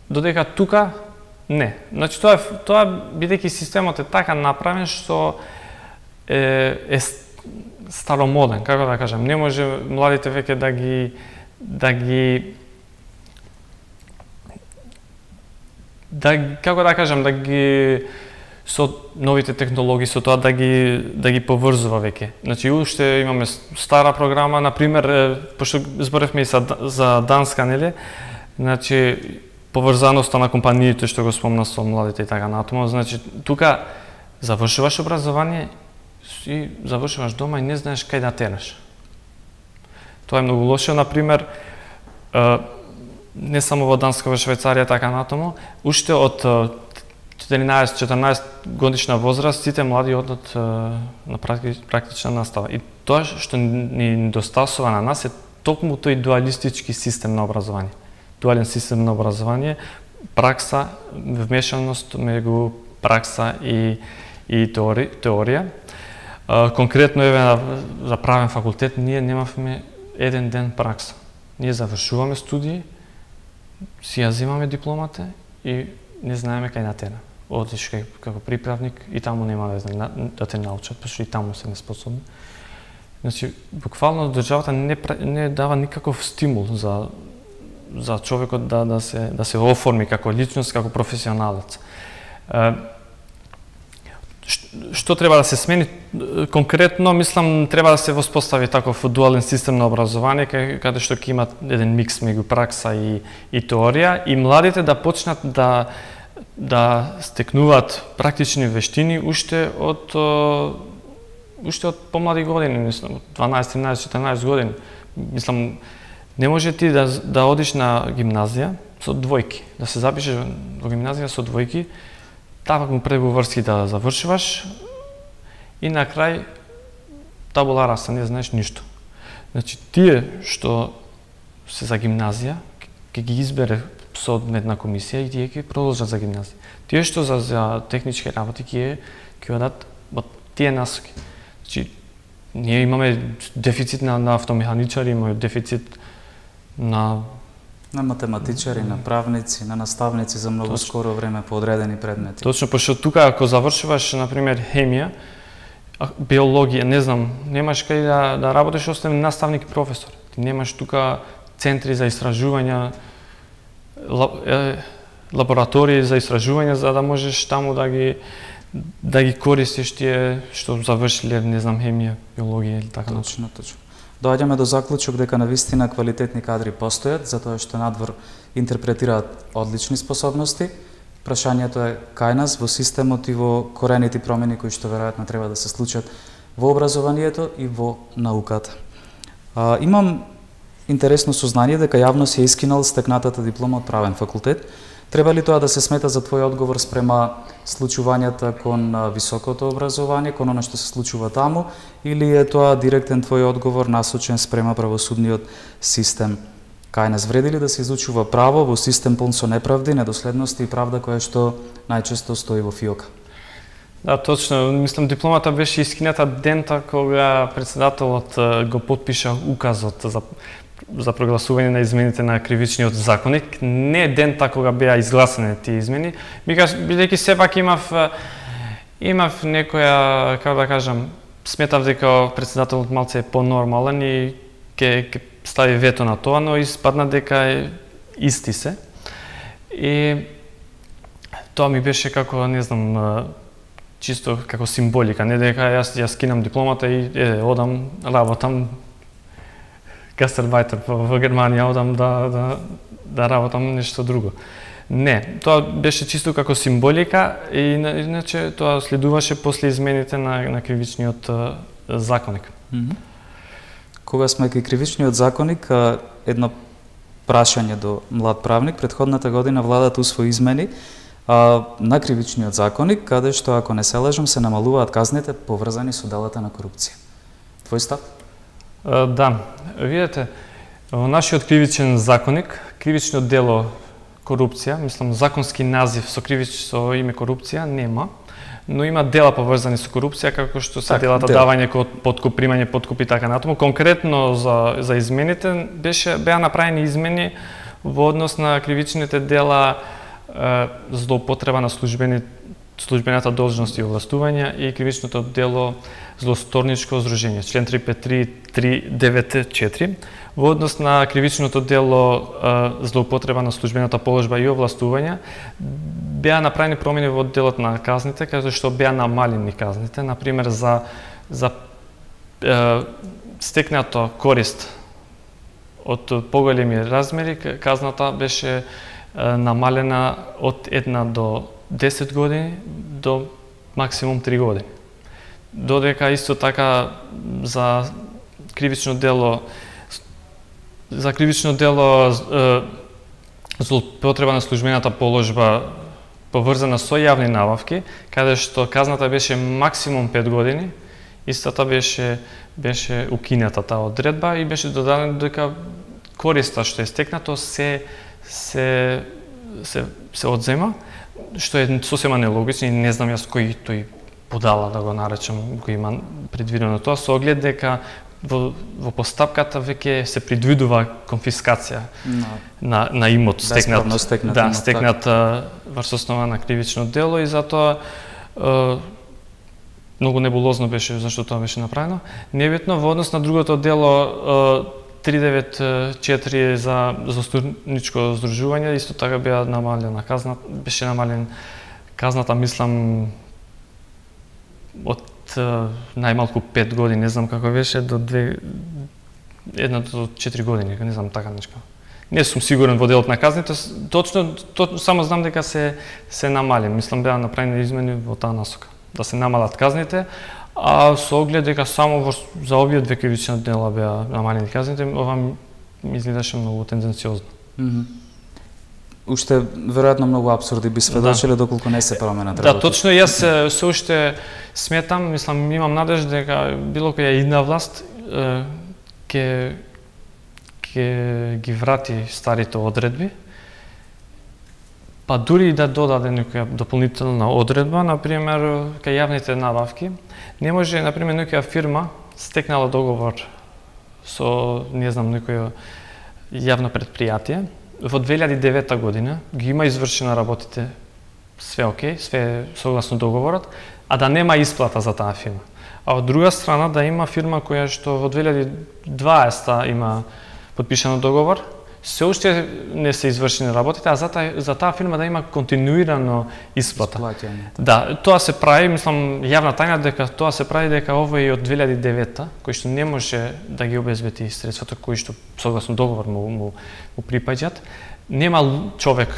Додека тука не. Значи тоа тоа бидејќи системот е така направен што е, е старомоден, како да кажам, не може младите веќе да ги да ги да како да кажам, да ги со новите технологии, со тоа да ги да ги поврзува веќе. Значи уште имаме стара програма, на пример, пошто зборевме и за, за Данска, нели? Значи поврзаноста на компаниите што го спомна со младите и така натаму, значи тука завршуваш образование и завршуваш дома и не знаеш кај да тераш. Тоа е многу лошо, на пример, не само во Данска, во Швајцарија така натаму, уште од четиринаесет-четрнаесет годишна возраст сите млади одат на практична настава. И тоа што ни недостасува на нас е токму тој дуалистички систем на образование. Дуален систем на образование, пракса, вмешаност меѓу пракса и и теори, теорија. Конкретно еве за правен факултет ние немавме еден ден пракса. Ние завршуваме студии, си ја земаме дипломата и не знаеме кај да тера. Одиш како приправник и таму нема да, да те научат, пошто и таму се неспособни. Значи, буквално државата не, не дава никаков стимул за за човекот да да се да се оформи како личност, како професионалец. Што треба да се смени? Конкретно, мислам, треба да се воспостави таков дуален систем на образование, каде што ќе имат еден микс меѓу пракса и, и теорија, и младите да почнат да да стекнуваат практични вештини уште од уште од помлади години, мислам, дванаесет, тринаесет, четиринаесет години. Мислам, не може ти да да одиш на гимназија со двојки, да се запишеш во гимназија со двојки, табаку преговорски да завршуваш и на крај табула раса, не знаеш ништо. Значи, тие што се за гимназија, ќе ги избере соодветна комисија и тие ќе продолжат за гимназија. Тие што за, за технички работи ќе ќе одат во тие насоки. Значи, ние имаме дефицит на, на автомеханичари, имаме дефицит на на математичари, на правници, на наставници за многу Точно. скоро време по одредени предмети. Точно, пошто тука ако завршуваш на пример хемија, биологија, не знам, немаш кај да да работиш освен наставник и професор. Ти немаш тука центри за истражувања, лаборатории за истражувања за да можеш таму да ги да ги користиш тие што завршиле, не знам, хемија, биологија или така. Точно, точно. Доаѓаме до заклучок дека навистина квалитетни кадри постојат, затоа што надвор интерпретираат одлични способности. Прашањето е кај нас во системот и во корените промени кои што веројатно треба да се случат во образованието и во науката. А, имам интересно сознание дека јавно се искинал стекнатата диплома од правен факултет. Треба ли тоа да се смета за твој одговор спрема случувањата кон високото образование, кон она што се случува таму, или е тоа директен твој одговор насочен спрема правосудниот систем? Кај нас вреди ли да се изучува право во систем пун со неправди, недоследности и правда која што најчесто стои во фиока? Да, точно. Мислам, дипломата беше искината дента кога председателот го потпиша указот за за прогласување на измените на кривичниот законник, не дента кога беа изгласани тие измени, микаш бидејќи сепак имав имав некоја, како да кажам, сметав дека председателот малце е понормален и ќе ќе стави вето на тоа, но испадна дека е исти се. И тоа ми беше како, не знам, чисто како символика, не дека јас ја скинам дипломата и е, одам, работам гастарбајтер во Германија, одам да, да, да работам нешто друго. Не, тоа беше чисто како символика и иначе тоа следуваше после измените на, на кривичниот uh, законник. Mm-hmm. Кога сме кај кривичниот законник, едно прашање до млад правник. Претходната година владата усвои измени а, на кривичниот законник, каде што, ако не се лажам, се намалуваат казните поврзани со делата на корупција. Твој став? А, да, видете, во нашиот кривичен законник, кривичното дело корупција, мислам законски назив со кривич со име корупција нема, но има дела поврзани со корупција, како што се так, делата дел. давање код подкуп, примање подкуп и така натаму. Конкретно за за измените беше беа направени измени во однос на кривичните дела е, злоупотреба на службени службената должност и овластувања и кривичното дело злосторничко здружение, член триста петдесет и три триста деветдесет и четири. Во однос на кривичното дело е, злоупотреба на службената положба и овластувања, беа направени промени во делот на казните, каде што беа намалени казните, например за за е, стекнато корист од поголеми размери, казната беше е, намалена од една до десет години до максимум три години. Додека исто така за кривично дело за кривично дело е, злоупотреба на службената положба поврзана со јавни набавки, каде што казната беше максимум пет години, истата беше беше укината таа одредба и беше додадено дека користа што е стекнато се се се се одзема, што е сосема нелогично и не знам јас кој тој подала да го наречам, кој има предвидено тоа, со оглед дека во, во постапката веќе се предвидува конфискација no. на, на имот стекнат, стекнат да, имот, стекнат врз основа на кривично дело и затоа е, многу небулозно беше зашто тоа беше направено. Небитно во однос на другото дело триста деветдесет и четири за злосторничко здружување, исто така беа намалена казна, беше намален казната, мислам, од најмалку пет години, не знам како беше, до две, една до четири години, не знам така нешто. Не сум сигурен во делот на казните, точно, точно само знам дека се се намали, мислам беа направени измени во таа насока, да се намалат казните, а со оглед дека само во, за овие две кривични дела беа намалени казните, ова ми изгледаше многу тенденциозно. Mm -hmm. Уште веројатно многу апсурди би сведочиле да. Доколку не се променат работи. Да, точно, јас се уште сметам, мислам, имам надежда дека било која идна власт ќе ќе ги врати старите одредби, па дури и да додаде некоја дополнителна одредба, например, кај јавните набавки, не може, например, некоја фирма стекнала договор со, не знам, некоја јавно предпријатие, во две илјади и девета година ги има извршена работите, све окей, све согласно договорот, а да нема исплата за таа фирма. А од друга страна да има фирма која што во две илјади и дваесета има подпишано договор, се уште не се извршени работите, а за таа, за таа фирма да има континуирано исплата. Исплатјање. Да, тоа се прави, мислам, јавна тајна дека тоа се прави дека овој од две илјади и девета, кој што не може да ги обезбеди средствата кои што согласно договор му, му, му припаѓаат, нема човек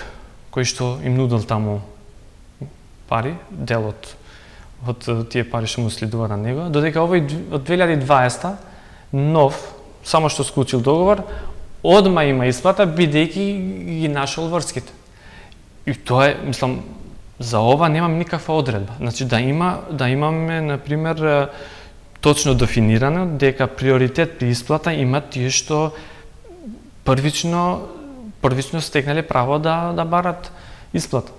кој што им нудел таму пари, делот од тие пари што му следува на него, додека овој од две илјади и дваесета нов, само што склучил договор, одма има исплата, бидејќи ги нашол врските. И тоа е, мислам, за ова немам никаква одредба. Значи да има, да имаме, например, точно дефинирано дека приоритет при исплата имат тие што првично првично стекнале право да да барат исплата.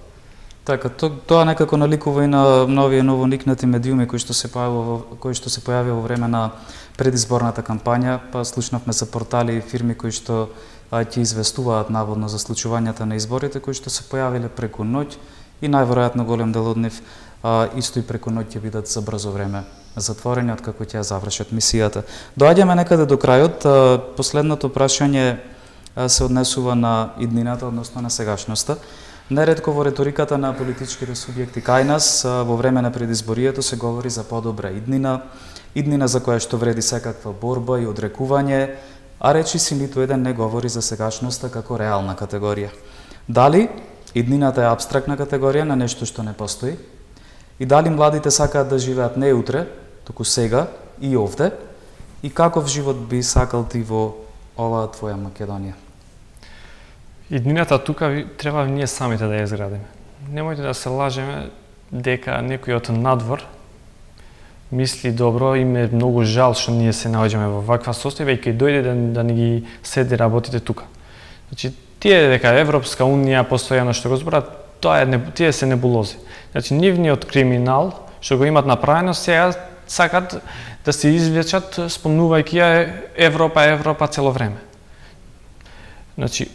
Така, то, тоа некако наликува и на нови новоникнати медиуми кои што се појавува кои што се појавија во време на предизборната кампања, па слушнавме за портали и фирми кои што ќе известуваат наводно за случувањата на изборите, кои што се појавиле преку ноќ и најверојатно голем дел од нив а, исто и преку ноќ ќе бидат за брзо време затворени откако ќе завршат мисијата. Доаѓаме некаде до крајот. А, последното прашање а, се однесува на иднината, односно на сегашноста. Неретко во реториката на политичките субјекти кај нас во време на предизборието се говори за подобра иднина, иднина за која што вреди секаква борба и одрекување, а речи си ниту еден не говори за сегашноста како реална категорија. Дали иднината е апстрактна категорија на нешто што не постои? И дали младите сакаат да живеат не утре, туку сега и овде? И каков живот би сакал ти во оваа твоја Македонија? иднината тука треба ние самите да ја изградиме. Немојте да се лажеме дека некој од надвор мисли добро, им е многу жал што ние се наоѓаме во ваква состојба и кај дојде да, да ни ги седи работите тука. Значи, тие дека Европска унија постојано што го зборат, тоа е, тие се небулози. Значи, нивниот криминал што го имат направено, сега сакат да се извлечат спомнувајќи ја Европа, Европа цело време. Значи,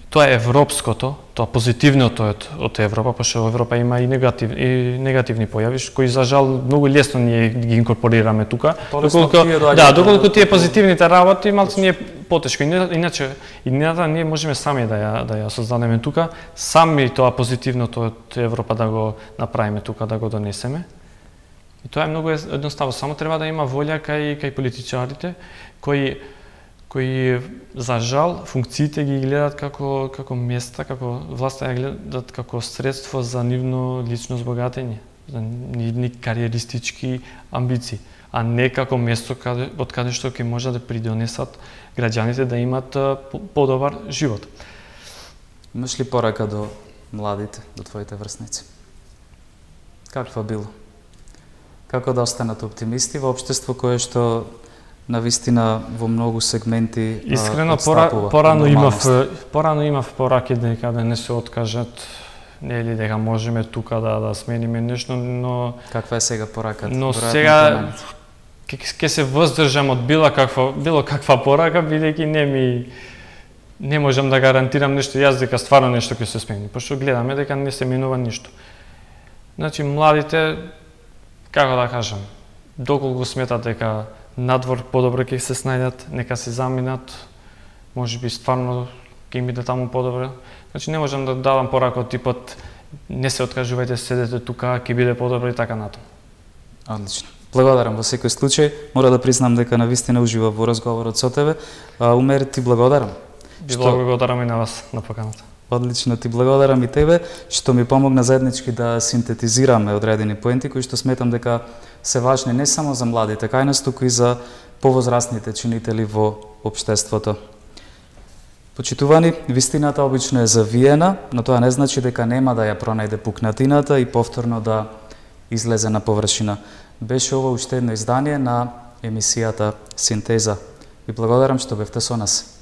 тоа е европското, тоа позитивното од, од Европа, пошто Европа има и негативни, и негативни појави, кои за жал многу лесно ние ги инкорпорираме тука. Доколку, да, доколку тие позитивните работи малку ние потешко. Иначе, иднината ние можеме сами да ја, да ја создадеме тука, сами тоа позитивното од Европа да го направиме тука, да го донесеме. И тоа е многу едноставно, само треба да има волја кај, кај политичарите, кои кои за жал функциите ги гледат како како места, како власта ја гледат како средство за нивно лично збогатење, за нивни кариеристички амбиции, а не како место каде од каде што ќе може да придонесат граѓаните да имат подобар живот. Имаш ли порака до младите, до твоите врсници? Каква било? Како да останат оптимисти во општество кое што навистина во многу сегменти искрено пора, порано имав порано имав пораки дека да не се откажат, нели дека можеме тука да да смениме нешто, но каква е сега пораката? Но сега ќе се воздржам од било каква било каква порака, бидејќи не ми не можам да гарантирам нешто јас дека стварно нешто ќе се смени, пошто гледаме дека не се менува ништо. Значи младите, како да кажам, доколку сметат дека надвор подобро ќе се снајдат, нека се заминат, можеби стварно ќе им биде таму подобро. Значи не можам да дадам порака од типот не се откажувајте, седете тука, ќе биде подобро и така натаму. Одлично. Благодарам во секој случај. Мора да признам дека навистина уживав во разговорот со тебе. А, Умер, ти благодарам. Ви што... благодарам и на вас на поканата. Одлично, ти благодарам и тебе што ми помогна заеднички да синтетизираме одредени поенти кои што сметам дека се важни не само за младите кај нас, туку и за повозрастните чинители во општеството. Почитувани, вистината обично е завиена, но тоа не значи дека нема да ја пронајде пукнатината и повторно да излезе на површина. Беше ова уште едно издание на емисијата Синтеза. Ви благодарам што бевте со нас.